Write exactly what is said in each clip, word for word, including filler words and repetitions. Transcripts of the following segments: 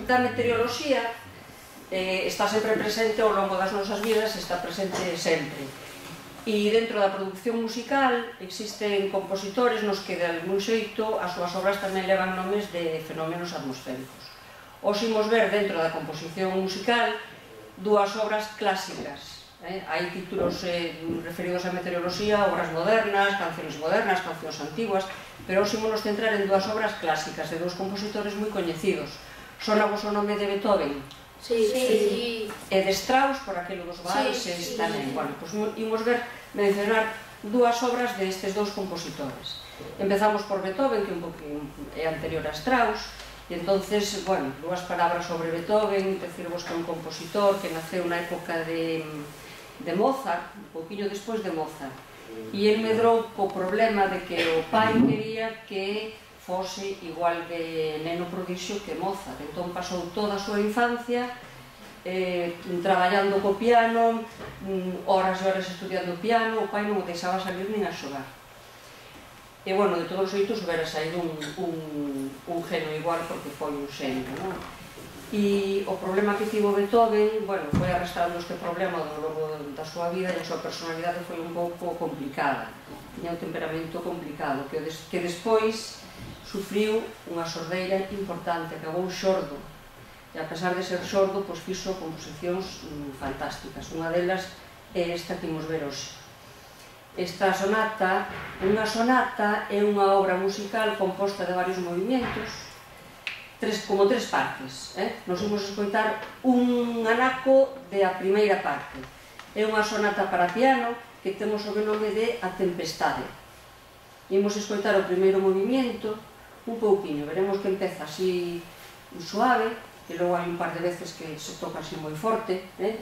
da meteoroloxía está sempre presente ao longo das nosas vidas, está presente sempre. E dentro da produción musical existen compositores nos que de algún xeito as súas obras tamén levan nomes de fenómenos atmosféricos. Os imos ver dentro da composición musical dúas obras clásicas. Hai títulos referidos á meteoroloxía, obras modernas, canciones modernas, cancións antiguas, pero os imos centrar en dúas obras clásicas de dous compositores moi coñecidos. Sona vos o nome de Beethoven? Sí, sí. E de Strauss, por aquilo dos valses tamén. Bueno, pois imos ver, mencionar dúas obras destes dous compositores. Empezamos por Beethoven, que é anterior a Strauss, e entonces, bueno, dúas palabras sobre Beethoven, decirvos que é un compositor que naceu na época de de Mozart, un pouquinho despois de Mozart, e el medrou co problema de que o pai quería que fose igual de neno prodixio que Mozart. Entón pasou toda a súa infancia traballando co piano, horas e horas estudiando piano, o pai non o deixaba salir nin a xogar. E, bueno, de todos os xeitos houbera saído un genio igual porque foi un xenio, non? E o problema que tivo Beethoven, bueno, foi arrastrando este problema ao longo da súa vida e a súa personalidade foi un pouco complicada. Tiña un temperamento complicado, que despois sufriu unha sordeira importante, acabou xordo. E a pesar de ser xordo, pois fixo composicións fantásticas. Unha delas é esta que imos ver hoxe. Esta sonata, unha sonata é unha obra musical composta de varios movimentos, como tres partes. Nos imos escoitar un anaco da primeira parte. É unha sonata para piano que temos o nome de A Tempestade. Imos escoitar o primeiro movimento un pouquinho, veremos que empeza así suave, e logo hai un par de veces que se toca así moi forte, e,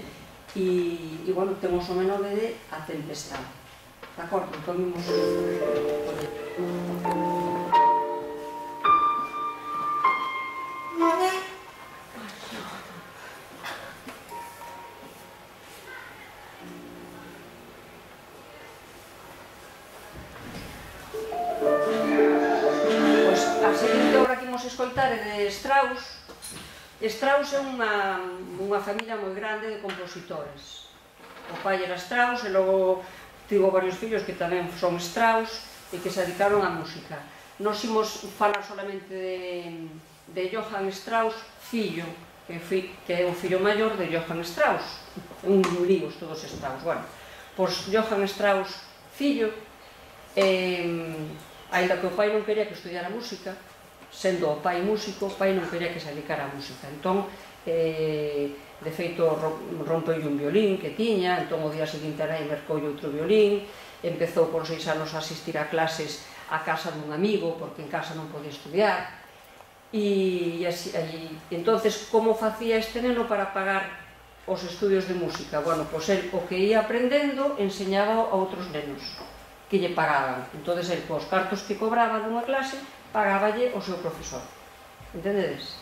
bueno, temos o nome de A Tempestade. De acordo? Entón imos... escoitar é de Strauss. Strauss é unha familia moi grande de compositores. O pai era Strauss e logo tivo varios fillos que tamén son Strauss e que se dedicaron á música. Nos imos falar solamente de Johann Strauss, fillo, que é o fillo maior de Johann Strauss. Un lío todos Strauss. Bueno, pois Johann Strauss, fillo, aínda que o pai non quería que estudiara música, sendo o pai músico, o pai non quería que se dedicara a música. Entón, de feito, rompeulle un violín que tiña, entón o día seguinte aí mercoulle outro violín, empezou por seis anos a asistir a clases a casa dun amigo, porque en casa non podía estudiar, e entonces, como facía este neno para pagar os estudios de música? Bueno, pois el o que ia aprendendo enseñaba a outros nenos que lle pagaban. Entón, el, cos cartos que cobraba dunha clase, pagáballe o seu profesor. Entendedes?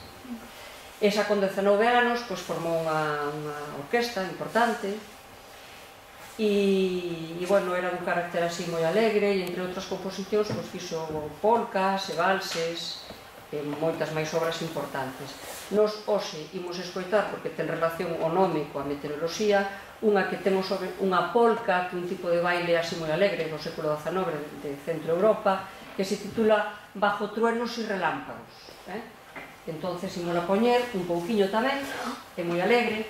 Esa con dezenove anos formou unha orquesta importante e, bueno, era dun carácter así moi alegre e, entre outras composicións, fixo polcas e valses e moitas máis obras importantes. Nos hoxe imos escoitar, porque ten relación o nome coa meteoroloxía, unha que temos sobre unha polca, que é un tipo de baile así moi alegre do século dezenove de Centro Europa, que se titula Bajo truenos e relámpagos. Entonces, imos a poñer un pouquiño tamén, é moi alegre,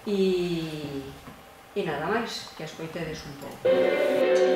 e nada máis, que a escoitedes un pouco.